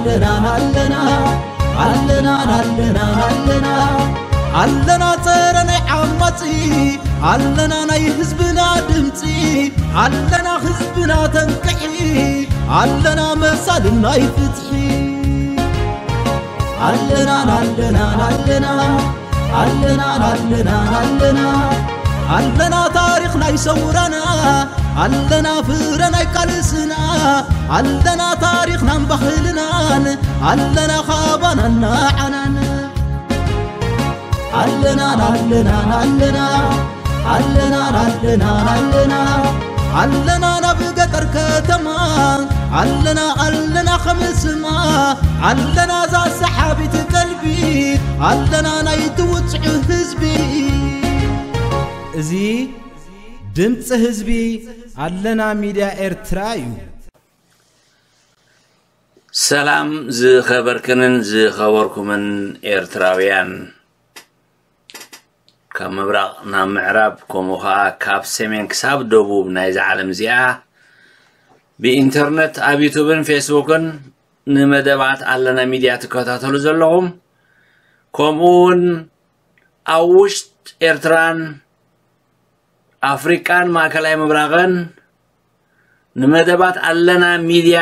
ኣለና ኣለና ኣለና ኣለና ኣለና ኣለና ጸረ ናይ ዓማጺ ኣለና ናይ ህዝብና ድምጺ ኣለና ህዝብና ተንቅሒ ኣለና መሳልን ናይ ፍትሒ ኣለና ኣለና ኣለና ኣለና ኣለና ኣለና ኣለና ታሪኽ ናይ ሰውራና ኣለና ፍረ ናይ ቃልስና ኣለና ታሪኽናን ባህልናን ኣለና ካባናን ንዓናን ኣለና ኣለና ኣለና ኣለና ኣለና ኣለና ኣለና ናብ ገጠር ከተማ ኣለና ኣለና ከምስማ ኣለና ዛ ሰሓቢት ቀልቢ ኣለና ናይ ትውፅዑ ህዝቢ እዚ ድምፂ ህዝቢ ኣለና ሚድያ ኤርትራ እዩ። ሰላም ዝኸበርክንን ዝኸበርኩምን ኤርትራውያን፣ ካብ ምብራቕ ናብ ምዕራብ፣ ከምኡ ኸኣ ካብ ሰሜን ክሳብ ደቡብ ናይዛ ዓለም እዚኣ፣ ብኢንተርነት ኣብ ዩቱብን ፌስቡክን ንመደባት ኣለና ሚድያ ትከታተሉ ዘለኹም፣ ከምኡ እውን ኣብ ውሽጥ ኤርትራን ኣፍሪቃን ማእከላይ ምብራቕን ንመደባት ኣለና ሚድያ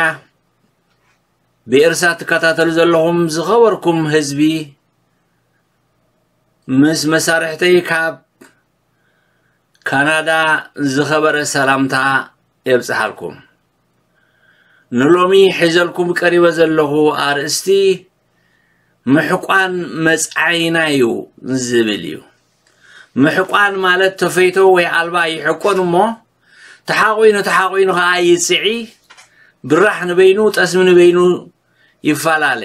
ብኤርትራ ትከታተሉ ዘለኹም ዝኸበርኩም ህዝቢ፣ ምስ መሳርሕተይ ካብ ካናዳ ዝኸበረ ሰላምታ የብጽሓልኩም። ንሎሚ ሒዘልኩም ቀሪበ ዘለኹ ኣርእስቲ ምሕቋን መጻኢና እዩ ዝብል እዩ። ምሕቋን ማለት ተፈይቶ ወይ ኣልባ ይሕቆን እሞ፣ ተሓቑኑ ተሓቑኑ ኸኣ ይጽዒ፣ ብራሕ ንበይኑ፣ ጠስሚ ንበይኑ ይፈላለ።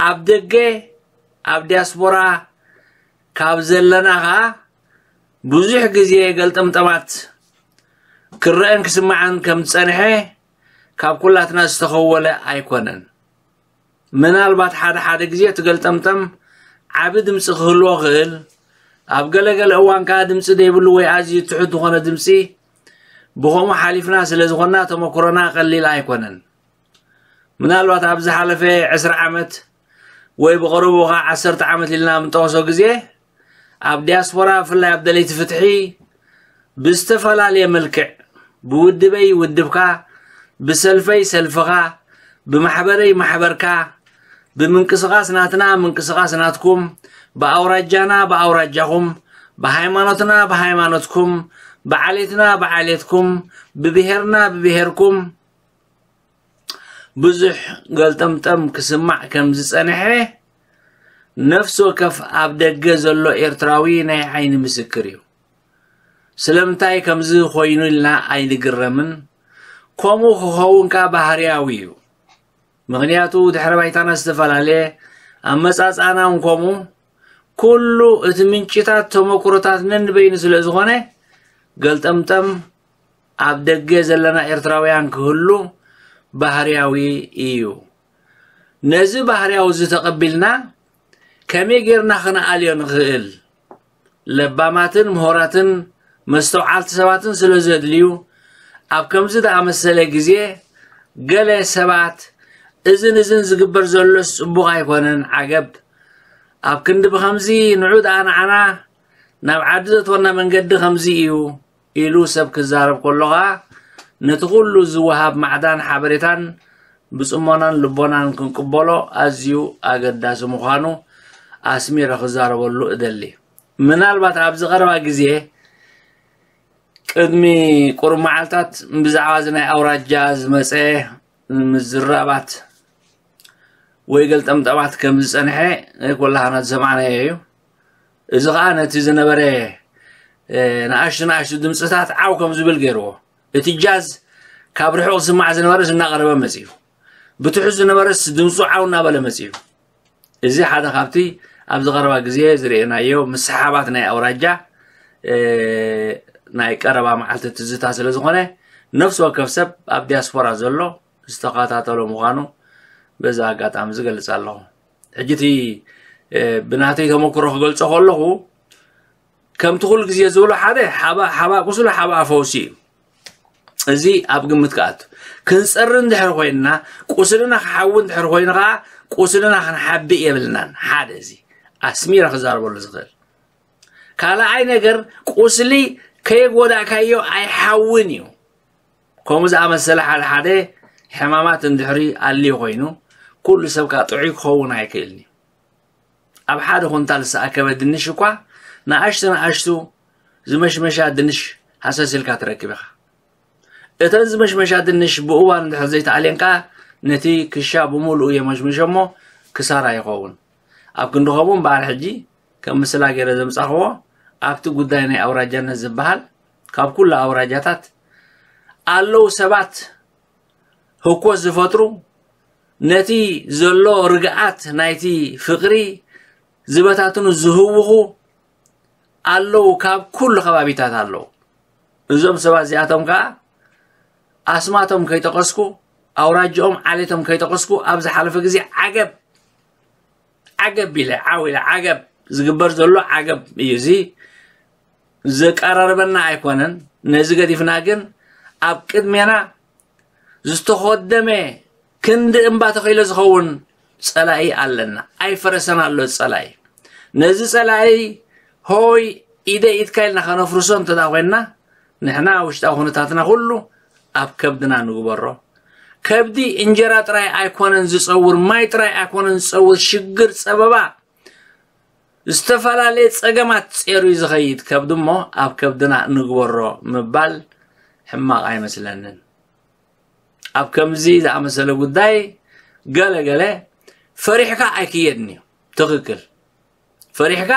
ኣብ ደገ፣ ኣብ ዲያስፖራ ካብ ዘለና ኸኣ ብዙሕ ግዜ ገልጠምጠማት ክረአን ክስማዓን ከም ዝጸንሐ ካብ ኩላትና ዝተኸወለ ኣይኮነን። ምናልባት ሓደ ሓደ ግዜ እቲ ገልጠምጠም ዓቢ ድምጺ ክህልዎ ክእል፣ ኣብ ገለገለ እዋን ከኣ ድምጺ ዘይብሉ ወይ ኣዝዩ ትሑት ዝኾነ ድምጺ ብኸምኡ ሓሊፍና ስለ ዝኾንና ተመክሮና ቀሊል ኣይኮነን። ምናልባት ኣብ ዝሓለፈ ዕስራ ዓመት ወይ ብቐረቡ ኸዓ ዓሰርተ ዓመት ኢልና ኣብ እንጠቕሶ ግዜ ኣብ ዲያስፖራ ብፍላይ ኣብ ደለይቲ ፍትሒ ብዝተፈላለየ መልክዕ ብውድበይ ውድብካ ብሰልፈይ ሰልፍኻ ብማሕበረይ ማሕበርካ ብምንቅስቓስ ናትና ምንቅስቓስ ናትኩም ብኣውራጃና ብኣውራጃኹም ብሃይማኖትና ብሃይማኖትኩም ብዓሌትና ብዓሌትኩም ብብሄርና ብብሄርኩም ብዙሕ ገልጠምጠም ክስማዕ ከም ዝጸንሐ ነፍሲ ወከፍ ኣብ ደገ ዘሎ ኤርትራዊ ናይ ዓይኒ ምስክር እዩ። ስለምንታይ ከምዚ ኮይኑ ኢልና ኣይንግረምን። ከምኡ ክኸውን ከኣ ባህርያዊ እዩ። ምኽንያቱ ድሕረ ባይታና ዝተፈላለየ፣ ኣመጻጽኣና እውን ከምኡ። ኩሉ እቲ ምንጭታት ተመክሮታት ነንበይኑ ስለ ዝኾነ ገልጠምጠም ኣብ ደገ ዘለና ኤርትራውያን ክህሉ ባህርያዊ እዩ። ነዚ ባህርያዊ እዚ ተቐቢልና ከመይ ጌርና ክንኣልዮ ንኽእል? ለባማትን ምሁራትን መስተውዓልቲ ሰባትን ስለ ዘድልዩ፣ ኣብ ከምዚ ዝኣመሰለ ግዜ ገለ ሰባት እዝን እዝን ዝግበር ዘሎስ ጽቡቕ ኣይኮነን፣ ዓገብ፣ ኣብ ክንዲ ብኸምዚ ንዑ ደኣ ንዓና ናብ ዓዲ ዘእትወና መንገዲ ከምዚ እዩ ኢሉ ሰብ ክዛረብ ከሎ ኸኣ ነቲ ኩሉ ዝወሃብ ማዕዳን ሓበሬታን ብጽሞናን ልቦናን ክንቅበሎ ኣዝዩ ኣገዳሲ ምዃኑ ኣስሚረ ክዛረበሉ እደሊ። ምናልባት ኣብዚ ቀረባ ግዜ ቅድሚ ቁሩብ መዓልታት ብዛዕባ እዚ ናይ ኣውራጃ ዝመጸ ምዝራባት ወይ ገልጠምጠማት ከም ዝጸንሐ ኩላህና ዝሰማዕናዮ እዩ። እዚ ኸኣ ነቲ ዝነበረ ንኣሽቱ ንኣሽቱ ድምፅታት ዓው ከም ዝብል ገይርዎ። እቲ ጃዝ ካብ ርሑቕ ዝስማዕ ዝነበረስ እናቐረበ መጺኡ፣ ብትሑት ዝነበረስ ድምፁ ዓው እናበለ መጺኡ። እዚ ሓደ ካብቲ ኣብዚ ቀረባ ግዜ ዝርእናዮ ምስሓባት ናይ ኣውራጃ ናይ ቀረባ መዓልቲ ትዝታ ስለ ዝኾነ ነፍሲ ወከፍ ሰብ ኣብ ዲያስፖራ ዘሎ ዝተኸታተሎ ምዃኑ በዚ ኣጋጣሚ ዝገልጽ ኣለኹ። ሕጂ እቲ ብናተይ ተመክሮ ክገልጾ ከለኹ ከምቲ ኩሉ ግዜ ዝብሎ ሓደ ሓባ ሓባ ቁስሉ ሓባ ፈውሲ እዩ። እዚ ኣብ ግምት ክኣቱ። ክንጸሪ እንድሕር ኮይንና፣ ቁስልና ክሓዊ እንድሕር ኮይኑ ከዓ፣ ቁስልና ክንሓብእ የብልናን። ሓደ፣ እዚ ኣስሚረ ክዛረበሉ ዝኽእል። ካልኣይ ነገር፣ ቁስሊ ከየጎዳእካዮ ኣይሓውን እዩ። ከምኡ ዝኣመሰለ ሓደ ሓደ ሕማማት እንድሕሪ ኣልዩ ኮይኑ፣ ኩሉ ሰብ ከዓ ጥዑይ ክኸውን ኣይክእልን እዩ። ኣብ ሓደ ኩንታል ዝተኣከበ ድንሽ እኳ፣ ንኣሽቱ ንኣሽቱ ዝመሽመሻ ድንሽ ሃሰስ ኢልካ ትረክብ ኢኻ። እተን ዝመሽመሻ ድንሽ ብእዋን እንድሕር ዘይተኣልየን ከዓ፣ ነቲ ክሻ ብምሉኡ የመሽምሾ እሞ ክሳራ ይኸውን። ኣብ ክንዲ ከምኡ እምበኣር፣ ሕጂ ከም ምስላ ገይረ ዘምጻኽዎ፣ ኣብቲ ጉዳይ ናይ ኣውራጃነት ዝበሃል፣ ካብ ኩሉ ኣውራጃታት ኣለዉ ሰባት ህኮት ዝፈጥሩ፣ ነቲ ዘሎ ርግኣት ናይቲ ፍቕሪ ዝበታትኑ፣ ዝህውኹ ኣለዉ፣ ካብ ኩሉ ከባቢታት ኣለዉ። እዞም ሰባት እዚኣቶም ከኣ፣ ኣስማቶም ከይጠቐስኩ፣ ኣውራጅኦም ዓሌቶም ከይጠቐስኩ፣ ኣብ ዝሓለፈ ግዜ ዓገብ፣ ዓገብ ኢለ፣ ዓው ኢለ፣ ዓገብ ዝግበር ዘሎ ዓገብ እዩ። እዚ ዘቀራርበና ኣይኮነን። ነዚ ገዲፍና ግን፣ ኣብ ቅድሜና ዝተኾደመ ክንዲ እምባ ተኺሎ ዝኸውን ጸላኢ ኣለና። ኣይፈረሰን ኣሎ ጸላኢ። ነዚ ጸላኢ ሆይ ኢደ ኢድካ ኢልና ከነፍርሶ እንተ ደኣ ኮይንና፣ ንሕና ውሽጣዊ ኩነታትና ኩሉ ኣብ ከብድና ንግበሮ። ከብዲ እንጀራ ጥራይ ኣይኮነን ዝጸውር፣ ማይ ጥራይ ኣይኮነን ዝጸውር፣ ሽግር፣ ጸበባ፣ ዝተፈላለየ ጸገማት ጼሩ እዩ ዝኸይድ። ከብዲ እሞ ኣብ ከብድና ንግበሮ ምባል ሕማቕ ኣይመስለንን። ኣብ ከምዚ ዝኣመሰለ ጉዳይ ገለ ገለ ፈሪሕካ ኣይክየድን እዩ። ትኽክል። ፈሪሕካ፣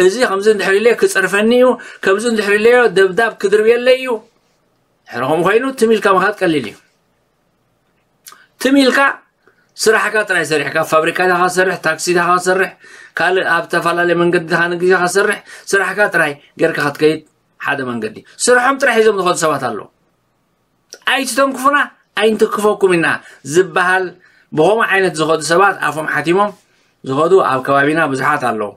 እዚ ከምዚ እንድሕር ኢለዮ ክጸርፈኒ እዩ፣ ከምዚ እንድሕር ኢለዮ ደብዳብ ክድርብየለይ እዩ። ድሕሪ ከምኡ ኮይኑ ትም ኢልካ ምኻድ ቀሊል እዩ። ትም ኢልካ ስራሕካ ጥራይ ሰሪሕካ፣ ፋብሪካ ኢኻ ትሰርሕ፣ ታክሲ ኢኻ ትሰርሕ፣ ካልእ ኣብ ዝተፈላለየ መንገዲ ኢኻ ንግዲ ኢኻ ትሰርሕ፣ ስራሕካ ጥራይ ጌርካ ክትከይድ ሓደ መንገዲ። ስርሖም ጥራይ ሒዞም ዝኸዱ ሰባት ኣለዉ። ኣይትተንክፉና፣ ኣይንትክፈኩም ኢና ዝበሃል፣ ብኸምኡ ዓይነት ዝኸዱ ሰባት፣ ኣፎም ሓቲሞም ዝኸዱ ኣብ ከባቢና ብዙሓት ኣለዉ።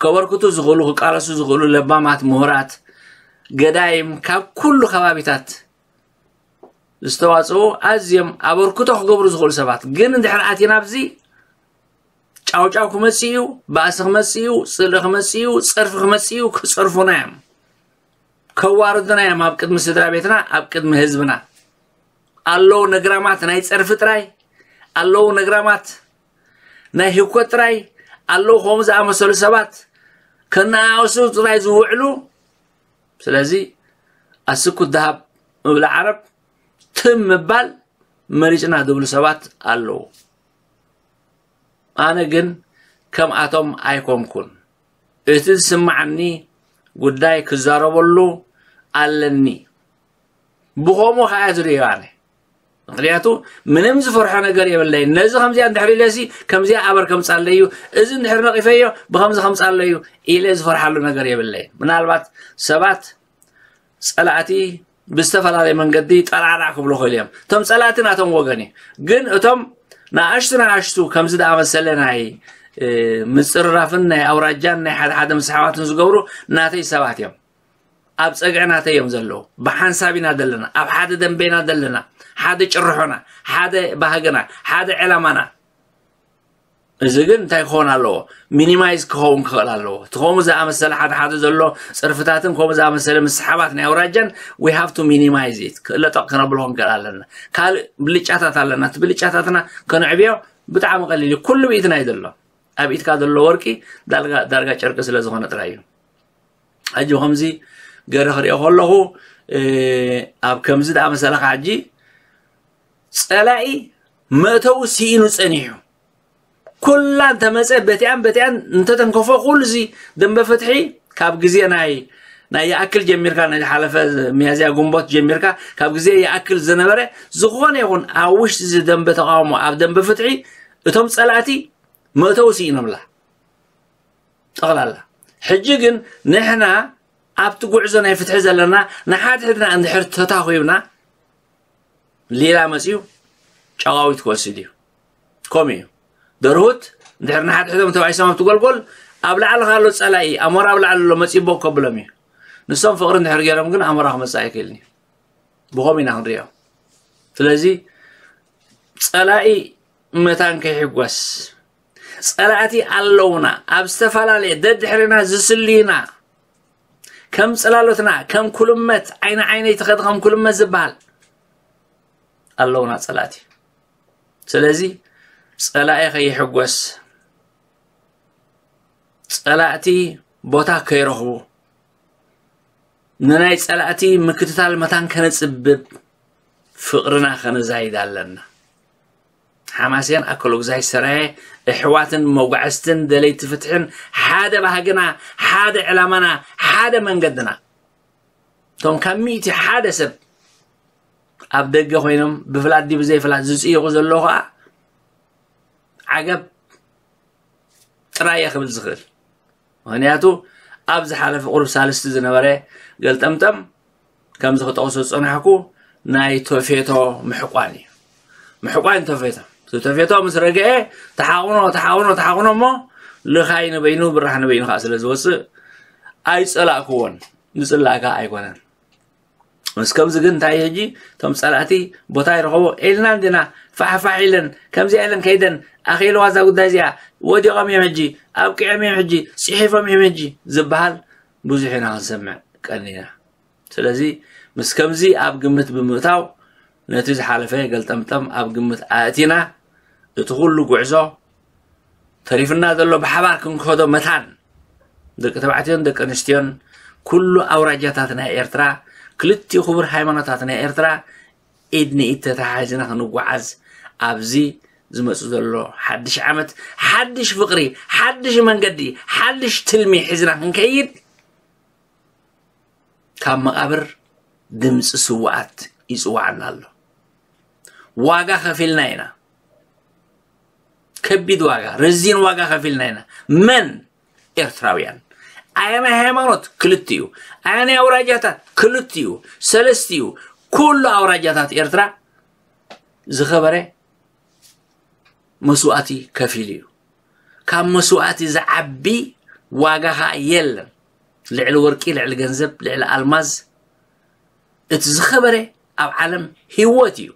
ከበርክቱ ዝኽእሉ፣ ክቃለሱ ዝኽእሉ ለባማት፣ ምሁራት፣ ገዳይም፣ ካብ ኩሉ ከባቢታት ዝተዋጽኡ፣ ኣዝዮም ኣበርክቶ ክገብሩ ዝኽእሉ ሰባት። ግን እንድሕር ኣቲና ኣብዚ፣ ጫውጫው ክመጽእ እዩ፣ ባእሲ ክመጽእ እዩ፣ ጽልኢ ክመጽእ እዩ፣ ጸርፊ ክመጽእ እዩ፣ ክጸርፉና እዮም። ከዋርዱና እዮም ኣብ ቅድሚ ስድራ ቤትና፣ ኣብ ቅድሚ ህዝብና። ኣለዉ ነግራማት ናይ ጸርፊ ጥራይ፣ ኣለዉ ነግራማት ናይ ህኮት ጥራይ፣ ኣለዉ ከምኡ ዝኣመሰሉ ሰባት ከነኣእሱ ጥራይ ዝውዕሉ። ስለዚ ኣስኩት ደሃብ እብለ ዓረብ ትም ምባል መሪጽና ዝብሉ ሰባት ኣለዉ። ኣነ ግን ከምኣቶም ኣይኮንኩን። እቲ ዝስምዓኒ ጉዳይ ክዛረበሉ ኣለኒ። ብኸምኡ ኸኣ ዝርእዮ ኣነ። ምኽንያቱ ምንም ዝፈርሖ ነገር የብለይን። ነዚ ከምዚኣ እንድሕር ኢለሲ ከምዚኣ ኣበር ከምጻለይ እዩ፣ እዚ እንድሕር ነቒፈዮ ብኸምዚ ከምጻለይ እዩ ኢለ ዝፈርሓሉ ነገር የብለይን። ምናልባት ሰባት ጸላእቲ ብዝተፈላለየ መንገዲ ጠራዕራዕ ክብሉ ይኽእሉ እዮም። እቶም ጸላእቲ ናቶም ወገን እዩ። ግን እቶም ንኣሽቱ ንኣሽቱ ከምዚ ዝኣመሰለ ናይ፣ እ፣ ምጽርራፍን ናይ ኣውራጃን ናይ ሓደ ሓደ ምስሕሓባትን ዝገብሩ ናተይ ሰባት እዮም። ኣብ ጸግዒ ናተይ እዮም ዘለዉ። ብሓንሳብ ኢና ዘለና፣ ኣብ ሓደ ደንበ ኢና ዘለና፣ ሓደ ጭርሖና፣ ሓደ ባህግና፣ ሓደ ዕላማና። እዚ ግን እንታይ ክኸውን ኣለዎ? ሚኒማይዝ ክኸውን ክኽእል ኣለዎ። እቲ ከምኡ ዝኣመሰለ ሓደ ሓደ ዘሎ ጽርፍታትን ከምኡ ዝኣመሰለ ምስሓባት ናይ ኣውራጃን we have to minimize it። ክእለጠቕ ክነብሎ ክንክእል ኣለና። ካልእ ብልጫታት ኣለና። እቲ ብልጫታትና ከነዕብዮ ብጣዕሚ ቀሊል እዩ። ኩሉ ብኢድና እዩ ዘሎ። ኣብ ኢድካ ዘሎ ወርቂ ዳርጋ፣ ዳርጋ ጨርቂ ስለ ዝኾነ ጥራይ እዩ። ሕጂ ከምዚ ገይረ ክሪኦ ከለኹ፣ እ፣ ኣብ ከምዚ ዝኣመሰለ ኸዓ ሕጂ ጸላኢ መእተዊ ስኢኑ ጸኒሑ። ኩላ እንተመጸ በቲኣን በቲኣን እንተተንከፎ፣ ኩሉ እዚ ደንበ ፍትሒ ካብ ግዜ ናይ፣ ናይ ይኣክል ጀሚርካ፣ ናይ ዝሓለፈ ሚያዝያ ግንቦት ጀሚርካ፣ ካብ ግዜ ይኣክል ዝነበረ ዝኾነ ይኹን ኣብ ውሽጢ እዚ ደንበ ተቃውሞ፣ ኣብ ደንበ ፍትሒ እቶም ጸላእቲ መእተዊ ስኢኖምላ ጠቕላላ። ሕጂ ግን ንሕና ኣብቲ ጉዕዞ ናይ ፍትሒ ዘለና ንሓድሕድና እንድሕር ተታኺብና፣ ሌላ መጺኡ ጨቓዊት ክወስድ እዩ። ከምኡ እዩ። ደርሁት እንድሕር ንሓድሕዶም ተባኢሶም ኣብቲ ጎልጎል፣ ኣብ ላዕሊ ካሎ ጸላኢ፣ ኣሞራ ኣብ ላዕሊ ኣሎ፣ መጺኡ ቦግ ከብሎም እዩ። ንሶም ፍቕሪ እንድሕር ገይሮም ግን ኣሞራ ክመጽእ ኣይክእልን እዩ። ብኸም ኢና ክንሪኦ። ስለዚ ጸላኢ መታን ከይሕጎስ፣ ጸላእቲ ኣለውና፣ ኣብ ዝተፈላለየ ደድሕርና ዝስልዩና፣ ከም ጽላሎትና፣ ከም ኩልመት፣ ዓይኒ ዓይነይ ትኸድ ከም ኩልመት ዝበሃል ኣለውና ጸላእቲ። ስለዚ ጸላኢ ከይሕጎስ፣ ጸላእቲ ቦታ ከይረኽቡ፣ ንናይ ጸላእቲ ምክትታል መታን ከነጽብብ፣ ፍቕርና ከነዛይድ ኣለና። ሓማሴን ኣከለጉዛይ ሰራየ፣ ኣሕዋትን መጓዕዝትን ደለይቲ ፍትሕን ሓደ ባህግና፣ ሓደ ዕላማና፣ ሓደ መንገድና። እቶም ካብ ሚእቲ ሓደ ሰብ ኣብ ደገ ኮይኖም ብፍላጥ ድዩ ብዘይፍላጥ ዝጽይቑ ዘለዉ ኸኣ ዓገብ ጥራይ እየ ክብል ዝኽእል። ምኽንያቱ ኣብ ዝሓለፈ ቁሩብ ሳልስቲ ዝነበረ ገልጠምጠም ከምዚ ክጠቕሶ ዝጸናሕኩ ናይ ቶፌቶ ምሕቋን እዩ። ምሕቋን ቶፌቶ። እቲ ቶፌቶ ምስ ረግአ ተሓቑኖ፣ ተሓቑኖ፣ ተሓቑኖ እሞ ልኻይ ንበይኑ ብራሕ ንበይኑ ከዓ ስለ ዝወጽእ ኣይጸላእክዎን። ዝጽላእ ከዓ ኣይኮነን። ምስ ከምዚ ግን እንታይ ሕጂ እቶም ጸላእቲ ቦታ ይረኸቦ ኢልና እንዲና ፋሕፋሕ ኢለን ከምዚኣ ኢለን ከይደን ኣኺልዋ እዛ ጉዳይ እዚኣ ወዲቖም እዮም ሕጂ ኣብቂዖም እዮም ሕጂ ጽሒፎም እዮም ሕጂ ዝበሃል ብዙሕ ኢና ክንሰምዕ ቀኒና። ስለዚ ምስ ከምዚ ኣብ ግምት ብምእታው ነቲ ዝሓለፈ ገልጠምጠም ኣብ ግምት ኣእቲና እቲ ኩሉ ጉዕዞ ተሪፍና ዘሎ ብሓባር ክንከዶ መታን ደቂ ተባዕትዮን ደቂ ኣንስትዮን ኩሉ ኣውራጃታት ናይ ኤርትራ ክልቲኡ ክቡር ሃይማኖታት ናይ ኤርትራ ኢድ ንኢድ ተተሓሒዝና ክንጓዓዝ ኣብዚ ዝመጽ ዘሎ ሓድሽ ዓመት ሓድሽ ፍቕሪ ሓድሽ መንገዲ ሓድሽ ትልሚ ሒዝና ክንከይድ ካብ መቓብር ድምፂ ስውኣት ይፅዋዕና ኣሎ። ዋጋ ከፊልና ኢና። ከቢድ ዋጋ፣ ረዚን ዋጋ ከፊልና ኢና። መን? ኤርትራውያን። ኣየናይ ሃይማኖት? ክልቲኡ። ኣየናይ ኣውራጃታት? ክልቲኡ። ሰለስቲኡ። ኩሉ ኣውራጃታት ኤርትራ ዝኸበረ መስዋእቲ ከፊሉ እዩ። ካብ መስዋእቲ ዝዓቢ ዋጋ ኸዓ የለን። ልዕሊ ወርቂ፣ ልዕሊ ገንዘብ፣ ልዕሊ ኣልማዝ እቲ ዝኸበረ ኣብ ዓለም ህይወት እዩ።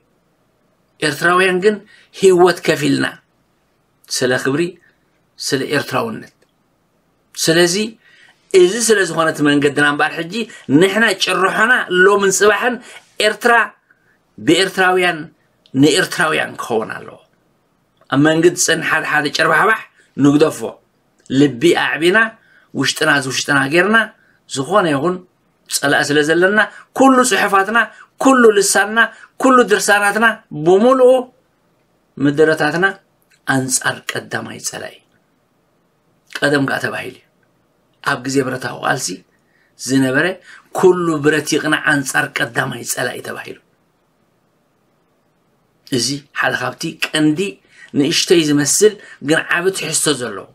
ኤርትራውያን ግን ህይወት ከፊልና ስለ ክብሪ፣ ስለ ኤርትራውነት። ስለዚ እዚ ስለ ዝኾነ እቲ መንገድና እምበኣር ሕጂ ንሕና ጭርሖና ሎምን ጽባሕን ኤርትራ ብኤርትራውያን ንኤርትራውያን ክኸውን ኣለዎ። ኣብ መንግዲ ዝጸንሕ ሓደ ሓደ ጨርባሕባሕ ንግደፎ። ልቢ ኣዕቢና ውሽጥና እዚ ውሽጥና ጌርና ዝኾነ ይኹን ጸላኢ ስለ ዘለና ኩሉ ጽሑፋትና፣ ኩሉ ልሳንና፣ ኩሉ ድርሳናትና ብምሉኡ ምድረታትና ኣንጻር ቀዳማይ ጸላኢ። ቀደም ከኣ ተባሂሉ እዩ። ኣብ ግዜ ብረታዊ ቃልሲ ዝነበረ ኩሉ ብረት ይቕናዕ ኣንጻር ቀዳማይ ጸላኢ ተባሂሉ። እዚ ሓደ ካብቲ ቀንዲ ንእሽተይ ዝመስል ግን ዓቢ ትሕዝቶ ዘለዎ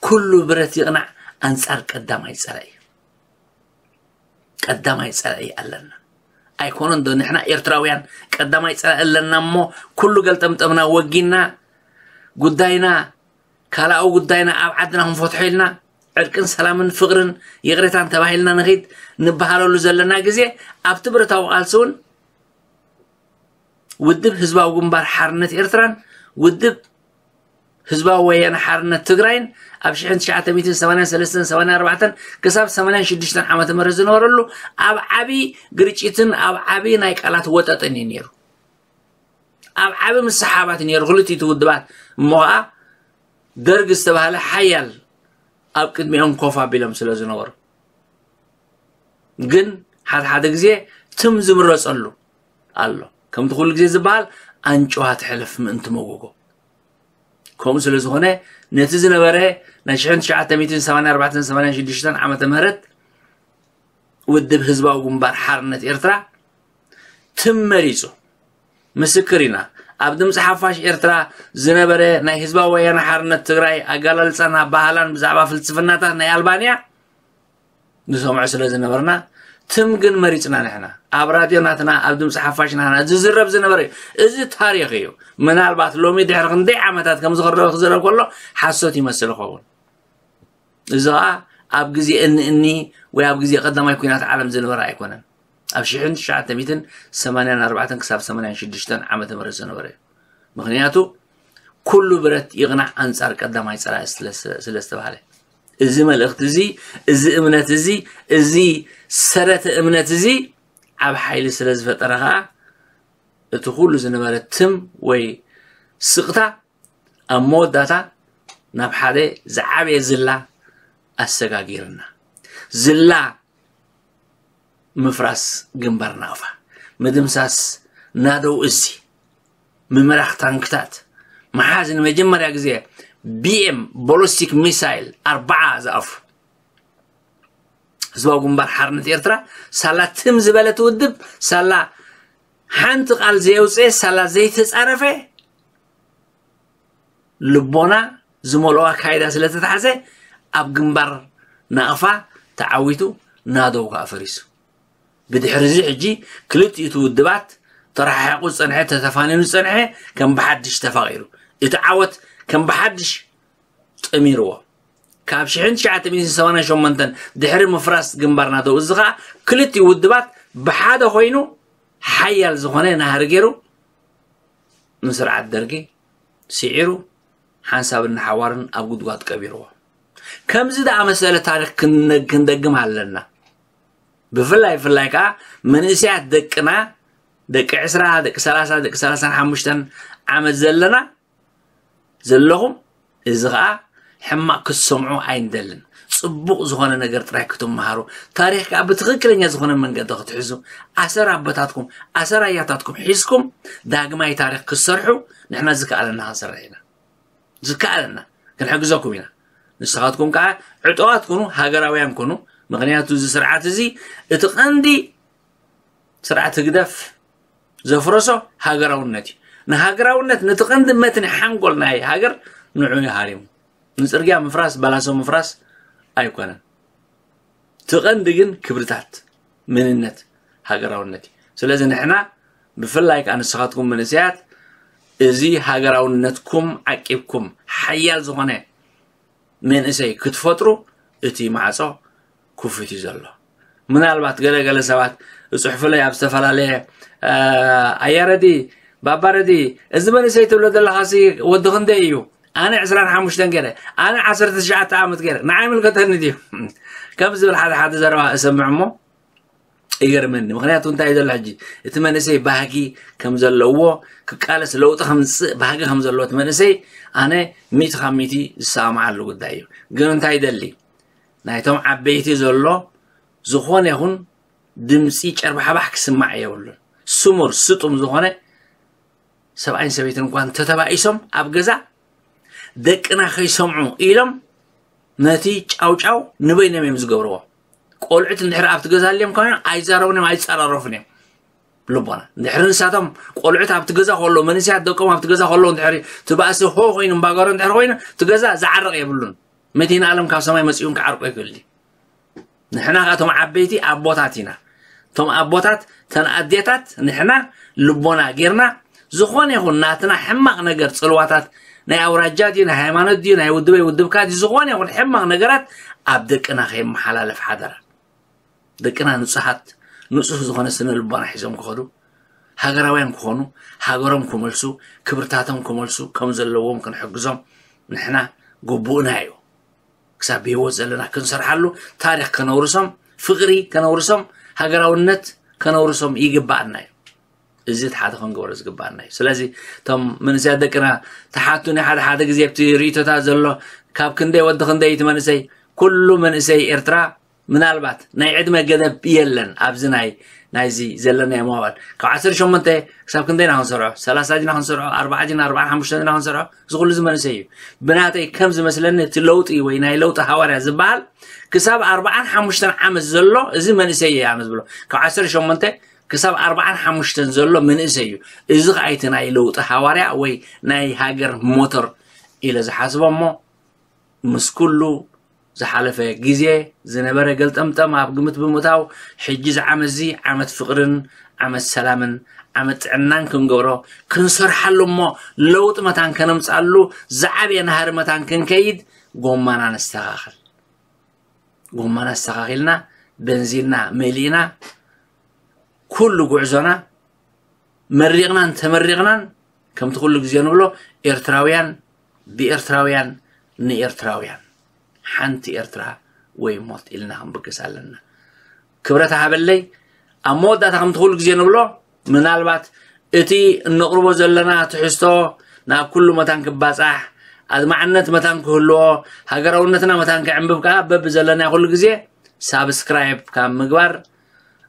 ኩሉ ብረት ይቕናዕ ኣንጻር ቀዳማይ ጸላኢ። ቀዳማይ ጸላኢ ኣለና። ኣይኮነን ዶ ንሕና ኤርትራውያን ቀዳማይ ጸላኢ ኣለና እሞ ኩሉ ገልጠምጠምና ወጊና ጉዳይና ካልኣዊ ጉዳይና ኣብ ዓድና ክንፈትሖ ኢልና ዕርቅን ሰላምን ፍቕርን ይቕሬታን ተባሂልና ንኺድ ንበሃለሉ ዘለና ግዜ ኣብቲ ብረታዊ ቃልሲ እውን ውድብ ህዝባዊ ግንባር ሓርነት ኤርትራን ውድብ ህዝባዊ ወያነ ሓርነት ትግራይን ኣብ ሽሕን ትሽዓተ ሚእትን ሰማንያን ሰለስተን ሰማንያን ኣርባዕተን ክሳብ ሰማንያን ሽዱሽተን ዓመተ ምህረት ዝነበረሉ ኣብ ዓቢ ግርጭትን ኣብ ዓቢ ናይ ቃላት ወጠጥን እዩ ነይሩ። ኣብ ዓቢ ምስሓባት ነይሩ ክልቲቱ ውድባት። እሞ ኸዓ ደርግ ዝተባህለ ሓያል ኣብ ቅድሚኦም ኮፍ ኣቢሎም ስለ ዝነበሩ ግን ሓደ ሓደ ግዜ ትም ዝምረጸሉ ኣሎ። ከምቲ ኩሉ ግዜ ዝበሃል ኣንጭዋ ትሕለፍ ምእንቲ መጎጎ። ከምኡ ስለ ዝኾነ ነቲ ዝነበረ ናይ ሽሕን ትሽዓተ ሚእትን ሰማንያን ኣርባዕተን ሰማንያን ሽዱሽተን ዓመተ ምህረት ውድብ ህዝባዊ ግንባር ሓርነት ኤርትራ ትም መሪጹ። ምስክር ኢና። ኣብ ድምፂ ሓፋሽ ኤርትራ ዝነበረ ናይ ህዝባዊ ወያነ ሓርነት ትግራይ ኣገላልፃን ኣባህላን ብዛዕባ ፍልስፍናታት ናይ ኣልባንያ ንሰምዖ ስለ ዝነበርና ትም ግን መሪፅና ንሕና ኣብ ራድዮ ናትና ኣብ ድምፂ ሓፋሽ ናትና ዝዝረብ ዝነበረ እዩ። እዚ ታሪክ እዩ። ምናልባት ሎሚ ድሕሪ ክንደይ ዓመታት ከም ዝኽረበ ክዝረብ ከሎ ሓሶት ይመስል ይኸውን። እዚ ኸዓ ኣብ ግዜ እኒ እኒ ወይ ኣብ ግዜ ቀዳማይ ኩናት ዓለም ዝነበረ ኣይኮነን። ኣብ ሽሕን ትሽዓተ ሚእትን ሰማንያን ኣርባዕተን ክሳብ ሰማንያን ሽዱሽተን ዓመተ ምህረት ዝነበረ እዩ። ምኽንያቱ ኩሉ ብረት ይቕናዕ ኣንጻር ቀዳማይ ጸላኢ ስለ- ስለ ዝተባህለ፣ እዚ መልእኽቲ እዚ፣ እዚ እምነት እዚ፣ እዚ ሰረተ እምነት እዚ ኣብ ሓይሊ ስለ ዝፈጠረ ኸኣ እቲ ኩሉ ዝነበረ ትም ወይ ስቕታ ኣብ መወዳእታ ናብ ሓደ ዝዓበየ ዝላ ኣሰጋጊርና። ዝላ ምፍራስ ግንባር ናቕፋ፣ ምድምሳስ ናደው እዚ፣ ምምራኽ ታንክታት፣ መሓዝ ንመጀመርያ ግዜ ቢኤም ቦሎስቲክ ሚሳይል ኣርባዓ ዝኣፉ ህዝባዊ ግንባር ሓርነት ኤርትራ፣ ሳላ ትም ዝበለት ውድብ፣ ሳላ ሓንቲ ቃል ዘየውፅኤ፣ ሳላ ዘይተፃረፈ፣ ልቦና ዝመልኦ ኣካይዳ ስለ ተታሕዘ፣ ኣብ ግንባር ናቕፋ ተዓዊቱ፣ ናደው ከኣ ፈሪሱ። ብድሕሪ እዚ ሕጂ ክልቲኡ እቲ ውድባት ተረሓሒቑ ዝጸንሐ፣ ተተፋኒኑ ዝጸንሐ ከም ብሓድሽ ተፋቒሩ፣ እቲ ዓወት ከም ብሓድሽ ጠሚርዎ። ካብ ሽሕን ትሽዓተ ሚእትን ሰማንያን ሸሞንተን ድሕሪ ምፍራስ ግንባር ናደው እዚ ኸኣ ክልቲኡ ውድባት ብሓደ ኮይኑ ሓያል ዝኾነ ናህሪ ገይሩ ንስርዓት ደርጊ ስዒሩ ሓንሳብን ንሓዋርን ኣብ ጉድጓድ ቀቢርዎ። ከምዚ ዝኣመሰለ ታሪኽ ክን- ክንደግም ኣለና። ብፍላይ ብፍላይ ከዓ መንእሰያት ደቅና፣ ደቂ ዕስራ፣ ደቂ ሰላሳ፣ ደቂ ሰላሳን ሓሙሽተን ዓመት ዘለና ዘለኹም፣ እዚ ከዓ ሕማቕ ክትሰምዑ ኣይንደልን። ጽቡቕ ዝኾነ ነገር ጥራይ ክትመሃሩ፣ ታሪኽ ከዓ ብትኽክለኛ ዝኾነ መንገዲ ክትሕዙ፣ ኣሰር ኣቦታትኩም፣ ኣሰር ኣያታትኩም ሒዝኩም ዳግማይ ታሪኽ ክትሰርሑ ንሕና ዝከኣለና ክንሰርሕ ኢና። ዝከኣለና ክንሕግዘኩም ኢና። ንስኻትኩም ከዓ ዕጡቓት ኩኑ፣ ሃገራውያን ኩኑ። ምኽንያቱ እዚ ስርዓት እዚ እቲ ቀንዲ ስርዓት ህግደፍ ዘፍረሶ ሃገራውነት እዩ። ንሃገራውነት፣ ነቲ ቀንዲ መትኒ ሓንጎል ናይ ሃገር ንዑ እዩ ሃሪሙ። ንጽርግያ ምፍራስ፣ ባላሶ ምፍራስ ኣይኮነን። እቲ ቀንዲ ግን ክብርታት፣ መንነት፣ ሃገራውነት እዩ። ስለዚ ንሕና ብፍላይ ከዓ ንስኻትኩም መንእሰያት እዚ ሃገራውነትኩም ዓቂብኩም ሓያል ዝኾነ መንእሰይ ክትፈጥሩ እቲ ማዕጾ ክፉት እዩ ዘሎ። ምናልባት ገለገለ ሰባት እጽሕፉለይ ኣብ ዝተፈላለየ፣ እ፣ ኣያ ረዲ፣ ባባ ረዲ፣ እዚ መንእሰይ ትብሎ ዘለኻሲ ወዲ ክንደይ እዩ? ኣነ ዕስራን ሓሙሽተን ገይረ፣ ኣነ ዓሰርተ ትሽዓተ ዓመት ገይረ፣ ንዓይ ይምልከተኒ ድዩ? ከም ዝብል ሓደ ሓደ ዘረባ እሰምዕ እሞ ይገርመኒ። ምኽንያቱ እንታይ እዩ ዘሎ ሕጂ? እቲ መንእሰይ ባህጊ ከም ዘለዎ፣ ክቃለስ ለውጢ ከምጽእ ባህጊ ከም ዘለዎ እቲ መንእሰይ ኣነ ሚእቲ ካብ ሚእቲ ዝሰማማዓሉ ጉዳይ እዩ። ግን እንታይ ይደሊ? ናይቶም ዓበይቲ ዘሎ ዝኾነ ይኹን ድምጺ ጨርባሕባሕ ክስማዕ የብሉን። ስሙር ስጡም ዝኾነ ሰብኣይን ሰበይትን እንኳን ተተባኢሶም ኣብ ገዛ ደቅና ከይሰምዑ ኢሎም ነቲ ጫውጫው ንበይኖም እዮም ዝገብርዎ። ቆልዑት እንድሕር ኣብቲ ገዛ ኣልዮም ኮይኖም ኣይዛረቡን እዮም፣ ኣይጸራረፉን እዮም። ልቦና እንድሕር ንሳቶም ቆልዑት ኣብቲ ገዛ ከሎ፣ መንእሰያት ደቆም ኣብቲ ገዛ ከሎ እንድሕር እቲ ባእሲ ሆ ኮይኑ እምባጓሮ እንድሕር ኮይኑ እቲ ገዛ ዝዓርቕ የብሉን። መድኃኔ ዓለም ካብ ሰማይ መጺኡ እውን ክዓርቆ ይኽእል እዩ። ንሕና ከኣ እቶም ዓበይቲ ኣቦታት ኢና። እቶም ኣቦታት፣ እተን ኣዴታት፣ ንሕና ልቦና ጌርና ዝኾነ ይኹን ናትና ሕማቕ ነገር፣ ጽልዋታት ናይ ኣውራጃ ድዩ፣ ናይ ሃይማኖት ድዩ፣ ናይ ውድበይ ውድብካ ድዩ፣ ዝኾነ ይኹን ሕማቕ ነገራት ኣብ ደቅና ከይመሓላለፍ ሓደራ። ደቅና ንጹሃት፣ ንጹህ ዝኾነ ስነ ልቦና ሒዞም ክኸዱ፣ ሃገራውያን ክኾኑ፣ ሃገሮም ክመልሱ፣ ክብርታቶም ክመልሱ ከም ዘለዎም ክንሕግዞም ንሕና ግቡእና እዩ። ክሳብ ብህይወት ዘለና ክንሰርሓሉ፣ ታሪኽ ከነውርሶም፣ ፍቕሪ ከነውርሶም፣ ሃገራውነት ከነውርሶም ይግባኣና እዩ። እዚ እቲ ሓደ ክንገብሮ ዝግባኣና እዩ። ስለዚ እቶም መንእሰያት ደቅና ትሓቱኒ ሓደ ሓደ ግዜ ኣብቲ ርእይቶታት ዘሎ፣ ካብ ክንደይ ወዲ ክንደይ እቲ መንእሰይ፣ ኩሉ መንእሰይ ኤርትራ ምናልባት ናይ ዕድመ ገደብ የለን። ኣብዚ ናይ ናይዚ ዘለናዮ ሞባይል ካብ ዓሰርተ ሸሞንተ ክሳብ ክንደይ ኢና ክንሰርዖ? ሰላሳ ዲና ክንሰርዖ? ኣርባዓ ዲና፣ ኣርባዓን ሓሙሽተን ዲና ክንሰርዖ? እዚ ኩሉ እዚ መንእሰይ እዩ። ብናተይ ከም ዝመስለኒ እቲ ለውጢ ወይ ናይ ለውጢ ሃዋርያ ዝበሃል ክሳብ ኣርባዓን ሓሙሽተን ዓመት ዘሎ እዚ መንእሰይ እየ ኣነ ዝብሎ። ካብ ዓሰርተ ሸሞንተ ክሳብ ኣርባዓን ሓሙሽተን ዘሎ መንእሰይ እዩ። እዚ ኸኣ እቲ ናይ ለውጢ ሃዋርያ ወይ ናይ ሃገር ሞተር ኢለ ዝሓስቦ እሞ ምስ ኩሉ ዝሓለፈ ግዜ ዝነበረ ገልጠምጠም ኣብ ግምት ብምእታው፣ ሕጂ እዚ ዓመት እዚ ዓመት ፍቕርን ዓመት ሰላምን ዓመት ጥዕናን ክንገብሮ፣ ክንሰርሓሉ እሞ ለውጢ መታን ከነምጻሉ ዝዓበየ ናህሪ መታን ክንከይድ ጎማና ነስተኻኽል። ጎማና ኣስተኻኺልና፣ በንዚንና መሊእና፣ ኩሉ ጉዕዞና መሪቕናን ተመሪቕናን ከምቲ ኩሉ ግዜ ንብሎ ኤርትራውያን ብኤርትራውያን ንኤርትራውያን ሓንቲ ኤርትራ ወይ ሞት ኢልና ክንብገስ ኣለና። ክብረት ሃበለይ። ኣብ መወዳእታ ከምቲ ኩሉ ግዜ ንብሎ ምናልባት እቲ እነቕርቦ ዘለና ትሕዝቶ ናብ ኩሉ መታን ክባጻሕ ኣድማዕነት መታን ክህልዎ ሃገራውነትና መታን ክዕንብብ ከዓ በቢ ዘለና ኩሉ ግዜ ሳብስክራይብ ካብ ምግባር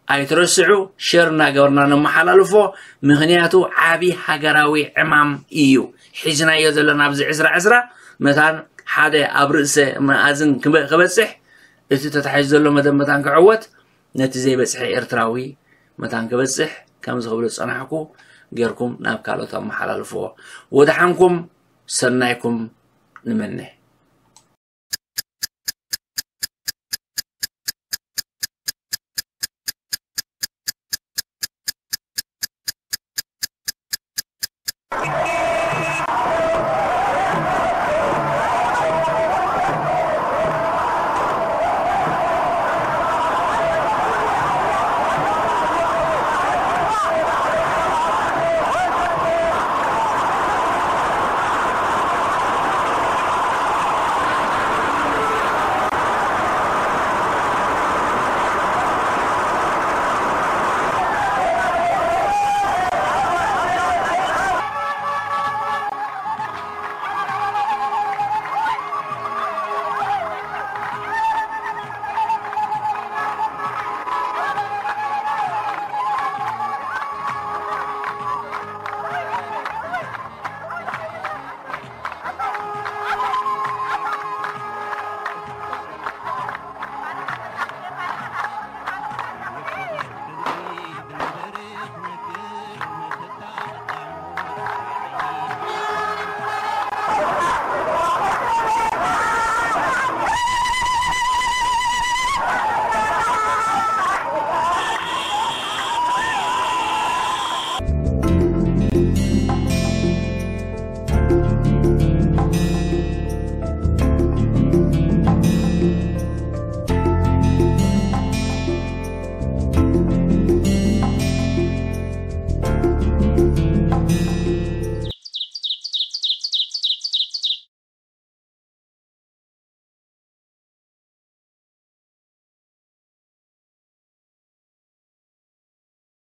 ኣይትረስዑ። ሸር እናገበርና ነመሓላልፎ። ምክንያቱ ዓቢ ሃገራዊ ዕማም እዩ ሒዝናዮ ዘለና ኣብዚ ዕስራ ዕስራ መታን ሓደ ኣብ ርእሰ መኣዝን ክበ- ክበጽሕ እቲ ተታሒዙ ዘሎ መደብ መታን ክዕወት ነቲ ዘይበጽሐ ኤርትራዊ መታን ክበጽሕ ከምዚ ክብሎ ዝጸናሕኩ ጌርኩም ናብ ካልኦት ኣመሓላልፍዎ። ወድሓንኩም ሰናይኩም ንመነ።